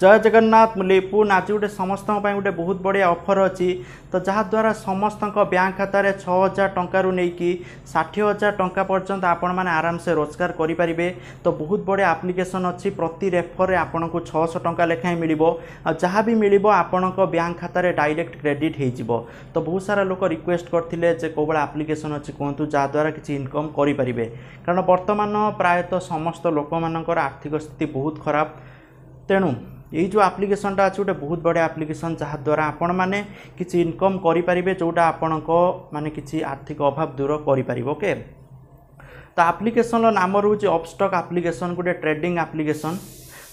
ଜୟ ଜଗନ୍ନାଥ। ମୁଁ ଲିପୁନ। ଆଜି ଗୋଟେ ସମସ୍ତଙ୍କ ପାଇଁ ଗୋଟେ ବହୁତ ବଢ଼ିଆ ଅଫର୍ ଅଛି, ତ ଯାହାଦ୍ୱାରା ସମସ୍ତଙ୍କ ବ୍ୟାଙ୍କ ଖାତାରେ 6000 ଟଙ୍କାରୁ ନେଇକି 60,000 ଟଙ୍କା ପର୍ଯ୍ୟନ୍ତ ଆପଣମାନେ ଆରାମସେ ରୋଜଗାର କରିପାରିବେ। ତ ବହୁତ ବଢ଼ିଆ ଆପ୍ଲିକେସନ୍ ଅଛି। ପ୍ରତି ରେଫରରେ ଆପଣଙ୍କୁ 600 ଟଙ୍କା ଲେଖାଏଁ ମିଳିବ, ଆଉ ଯାହା ବି ମିଳିବ ଆପଣଙ୍କ ବ୍ୟାଙ୍କ ଖାତାରେ ଡାଇରେକ୍ଟ କ୍ରେଡ଼ିଟ୍ ହେଇଯିବ। ତ ବହୁତ ସାରା ଲୋକ ରିକ୍ୱେଷ୍ଟ କରିଥିଲେ ଯେ କେଉଁ ଭଳିଆ ଆପ୍ଲିକେସନ୍ ଅଛି କୁହନ୍ତୁ, ଯାହାଦ୍ୱାରା କିଛି ଇନକମ୍ କରିପାରିବେ, କାରଣ ବର୍ତ୍ତମାନ ପ୍ରାୟତଃ ସମସ୍ତ ଲୋକମାନଙ୍କର ଆର୍ଥିକ ସ୍ଥିତି ବହୁତ ଖରାପ। ତେଣୁ ଏଇ ଯେଉଁ ଆପ୍ଲିକେସନ୍ଟା ଅଛି, ଗୋଟେ ବହୁତ ବଢ଼ିଆ ଆପ୍ଲିକେସନ୍, ଯାହାଦ୍ୱାରା ଆପଣମାନେ କିଛି ଇନକମ୍ କରିପାରିବେ, ଯେଉଁଟା ଆପଣଙ୍କ ମାନେ କିଛି ଆର୍ଥିକ ଅଭାବ ଦୂର କରିପାରିବ। ଓକେ, ତ ଆପ୍ଲିକେସନ୍ର ନାମ ରହୁଛି ଅପଷ୍ଟକ୍ ଆପ୍ଲିକେସନ୍, ଗୋଟେ ଟ୍ରେଡ଼ିଂ ଆପ୍ଲିକେସନ୍,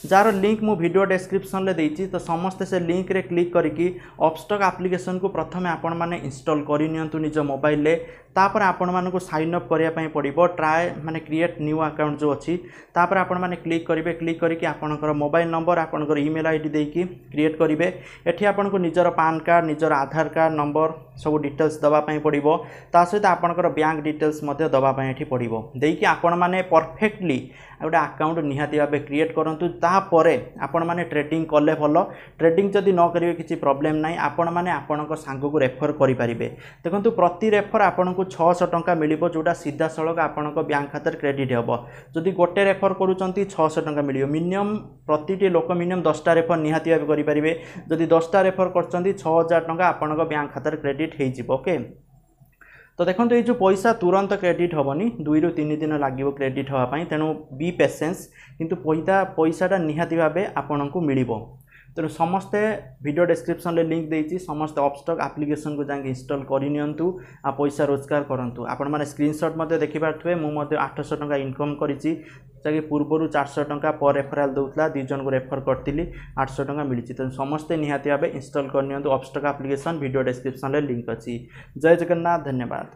ଯାହାର ଲିଙ୍କ୍ ମୁଁ ଭିଡ଼ିଓ ଡେସ୍କ୍ରିପ୍ସନ୍ରେ ଦେଇଛି। ତ ସମସ୍ତେ ସେ ଲିଙ୍କ୍ରେ କ୍ଲିକ୍ କରିକି ଅପଷ୍ଟକ୍ ଆପ୍ଲିକେସନ୍କୁ ପ୍ରଥମେ ଆପଣମାନେ ଇନଷ୍ଟଲ୍ କରିନିଅନ୍ତୁ ନିଜ ମୋବାଇଲରେ। ତାପରେ ଆପଣମାନଙ୍କୁ ସାଇନ୍ ଅପ୍ କରିବା ପାଇଁ ପଡ଼ିବ। ଟ୍ରାଏ ମାନେ କ୍ରିଏଟ୍ ନ୍ୟୁ ଆକାଉଣ୍ଟ ଯେଉଁ ଅଛି, ତାପରେ ଆପଣମାନେ କ୍ଲିକ୍ କରିବେ। କ୍ଲିକ୍ କରିକି ଆପଣଙ୍କର ମୋବାଇଲ ନମ୍ବର, ଆପଣଙ୍କର ଇମେଲ୍ I D ଦେଇକି କ୍ରିଏଟ୍ କରିବେ। ଏଠି ଆପଣଙ୍କୁ ନିଜର ପାନ୍ କାର୍ଡ଼, ନିଜର ଆଧାର କାର୍ଡ଼ ନମ୍ବର ସବୁ ଡିଟେଲ୍ସ ଦେବା ପାଇଁ ପଡ଼ିବ। ତା ସହିତ ଆପଣଙ୍କର ବ୍ୟାଙ୍କ ଡିଟେଲ୍ସ ମଧ୍ୟ ଦେବା ପାଇଁ ଏଠି ପଡ଼ିବ। ଦେଇକି ଆପଣମାନେ ପରଫେକ୍ଟଲି ଗୋଟେ ଆକାଉଣ୍ଟ ନିହାତି ଭାବେ କ୍ରିଏଟ୍ କରନ୍ତୁ। ତାପରେ ଆପଣମାନେ ଟ୍ରେଡ଼ିଂ କଲେ ଭଲ, ଟ୍ରେଡ଼ିଂ ଯଦି ନ କରିବେ କିଛି ପ୍ରୋବ୍ଲେମ୍ ନାହିଁ, ଆପଣମାନେ ଆପଣଙ୍କ ସାଙ୍ଗକୁ ରେଫର୍ କରିପାରିବେ। ଦେଖନ୍ତୁ, ପ୍ରତି ରେଫର୍ ଆପଣଙ୍କୁ 600 ଟଙ୍କା ମିଳିବ, ଯେଉଁଟା ସିଧାସଳଖ ଆପଣଙ୍କ ବ୍ୟାଙ୍କ ଖାତାରେ କ୍ରେଡ଼ିଟ୍ ହେବ। ଯଦି ଗୋଟେ ରେଫର୍ କରୁଛନ୍ତି, 600 ଟଙ୍କା ମିଳିବ। ମିନିମମ୍ ପ୍ରତିଟି ଲୋକ ମିନିମମ୍ 10ଟା ରେଫର୍ ନିହାତି ଭାବେ କରିପାରିବେ। ଯଦି 10ଟା ରେଫର୍ କରୁଛନ୍ତି, 6000 ଟଙ୍କା ଆପଣଙ୍କ ବ୍ୟାଙ୍କ ଖାତାରେ କ୍ରେଡ଼ିଟ୍ ହେଇଯିବ। ଓକେ, ତ ଦେଖନ୍ତୁ, ଏଇ ଯେଉଁ ପଇସା ତୁରନ୍ତ କ୍ରେଡ଼ିଟ୍ ହେବନି, 2ରୁ 3 ଦିନ ଲାଗିବ କ୍ରେଡ଼ିଟ୍ ହେବା ପାଇଁ। ତେଣୁ ବି ପେସେନ୍ସ, କିନ୍ତୁ ପଇସାଟା ନିହାତି ଭାବେ ଆପଣଙ୍କୁ ମିଳିବ। ତେଣୁ ସମସ୍ତେ ଭିଡ଼ିଓ ଡେସ୍କ୍ରିପ୍ସନ୍ରେ ଲିଙ୍କ୍ ଦେଇଛି, ସମସ୍ତେ ଅପଷ୍ଟକ୍ ଆପ୍ଲିକେସନ୍କୁ ଯାଇକି ଇନଷ୍ଟଲ୍ କରିନିଅନ୍ତୁ ଆଉ ପଇସା ରୋଜଗାର କରନ୍ତୁ। ଆପଣମାନେ ସ୍କ୍ରିନସଟ୍ ମଧ୍ୟ ଦେଖିପାରୁଥିବେ, ମୁଁ ମଧ୍ୟ 800 ଟଙ୍କା ଇନକମ୍ କରିଛି, ଯାହାକି ପୂର୍ବରୁ 400 ଟଙ୍କା ପର୍ ରେଫରାଲ୍ ଦେଉଥିଲା। 2 ଜଣଙ୍କୁ ରେଫର୍ କରିଥିଲି, 800 ଟଙ୍କା ମିଳିଛି। ତେଣୁ ସମସ୍ତେ ନିହାତି ଭାବେ ଇନଷ୍ଟଲ୍ କରିନିଅନ୍ତୁ ଅପଷ୍ଟକ୍ ଆପ୍ଲିକେସନ୍। ଭିଡ଼ିଓ ଡେସ୍କ୍ରିପ୍ସନ୍ରେ ଲିଙ୍କ୍ ଅଛି। ଜୟ ଜଗନ୍ନାଥ, ଧନ୍ୟବାଦ।